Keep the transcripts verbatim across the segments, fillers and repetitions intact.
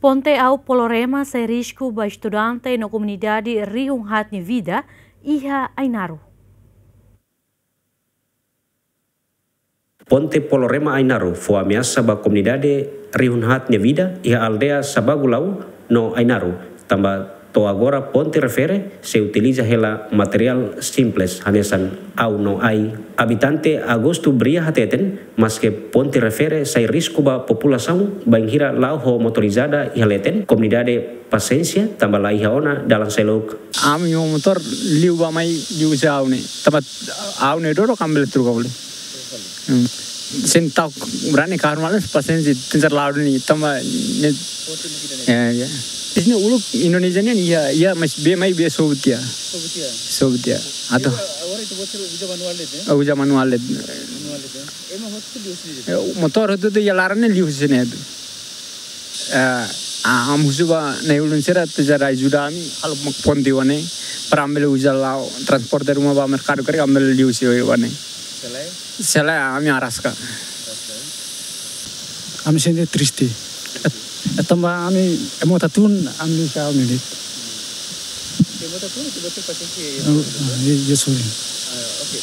Ponte Au Polorema sai risku ba estudante no komunidade rihun haat nia vida iha Ainaro. Ponte Polorema Ainaro fó ameasa ba komunidade rihun haat nia vida iha aldeia Sabagulau no Ainaro, tanba to'o agora ponte refere sei utiliza hela materiál simples hanesan au no ai. Abitante Augusto Bria hateten, maske ponte refere sai risku ba populasaun bainhira la'o ho motorizada iha leten, komunidade pasiénsia tanba la iha ona dalan seluk. Ami ho motór liu bá mai liu husi au ne'e. Tanba au ne'e dodok ami bele troka fali. Hmm. Senta rani karma les pasiénsia tentar la'o ne'e tanba ne'e. Ya, ya. Di sini uluk Indonesia ne'e ya, ya, mas bee mai bee sobu tiha. Sobu tiha. Sobu tiha. Atau agora itu bocor uza manuál de'it, eh? Uza manuál de'it. Manuál de'it, eh? Ema hotu liu husi ne'e. Eh, motór hotu tu ya laran ne'e liu husi ne'e tu. Eh, a, ami husu ba na'i-ulun sira atu ajuda ami, halo mak ponte oan ne'e, para ami bele uza la'o, transporte ruma ba merkadu karik ami bele liu husi oan ne'e. Selae? Selae ami araska. Araska. Ami sente triste. Eh, tanba ami, ema hotu tun, ami ka ami dit. Ema hotu tun, ema hotu pasiénsia, ya. Oh, ah, ya, ya, sorry. Ah, oke.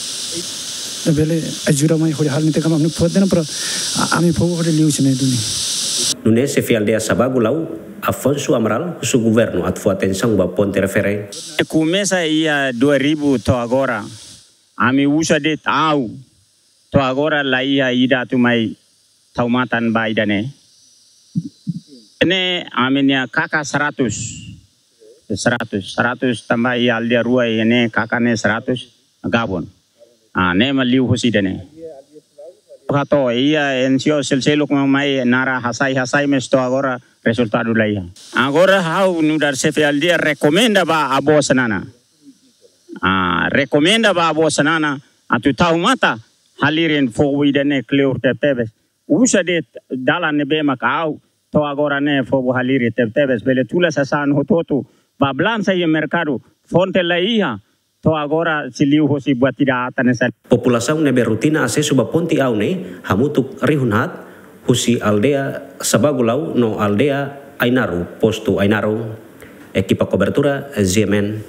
Ita bele ajuda mai hodi hal ne'e te kama ami pode na para a-, ami povu hodi liu husi ne'e duni. Nune'e xefe aldeia Sabagulau, Afonso Amaral, husu governu atu fó atensaun ba ponte refere. Komesa iha dua ribu to'o agora. Ami uza de'it au. To'o agora la iha ida atu mai tau matan ba ida-ne'e. Ne'e ami-nia kaka seratus. Seratus, seratus tanba iha aldeia rua iha ne'e kaka ne'e seratus gabun. Ah, ne'e mak liu husi ida-ne'e. Hato'o iha N G O sel-seluk mak mai narra hasai-hasai mas to'o agora rezultadu la iha. Agora ha'u nu'udar xefe aldeia rekomenda ba avó Xanana. Ah, rekomenda ba avó Xanana atu tau matan halirin foho ida-ne'e kleur tebetebes. Uza de'it dalan ne'ebé mak au to'o agora ne'e foho halirin tebetebes. Bele tula sasán hotu-hotu. Bá balansa iha merkadu. Ponte la iha. To'o agora sei liu husi buat ida atan ne'e sa. Populasaun ne'ebé rotina asesu ba ponte au ne'e hamutuk rihun haat husi aldeia Sabagulau no aldeia Ainaro, postu Ainaro. Ekipa kobertura, Z M N.